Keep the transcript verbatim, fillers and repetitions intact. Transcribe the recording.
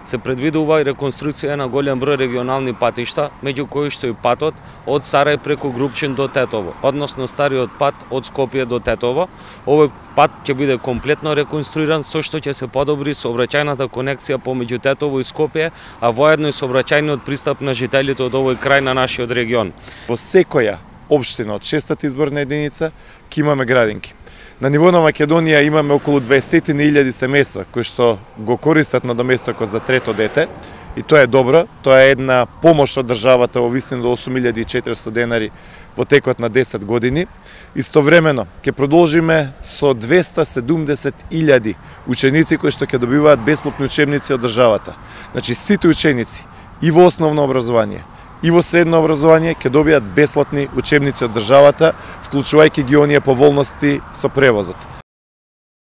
се предвидува и реконструкција на голем број регионални патишта, меѓу кои што и патот од Сарај преку Групчин до Тетово, односно стариот пат од Скопје до Тетово. Овој пат ќе биде комплетно реконструиран, со што ќе се подобри сообраќајната конекција помеѓу Тетово и Скопје, а воедно и сообраќајниот пристап на жителите од овој крај на нашиот регион. Во секоја општина од шестата изборна единица ќе имаме градинки. На ниво на Македонија имаме околу дваесет илјади семејства кои што го користат надоместокот за трето дете и тоа е добро. Тоа е една помош од државата во висина до осум илјади и четиристо денари во текот на десет години. Истовремено ќе продолжиме со двесте и седумдесет илјади ученици кои што ќе добиваат бесплатни учебници од државата. Значи сите ученици и во основно образование и во средно образование ќе добијат бесплатни учебници од државата, вклучувајќи ги оние поволности со превозот.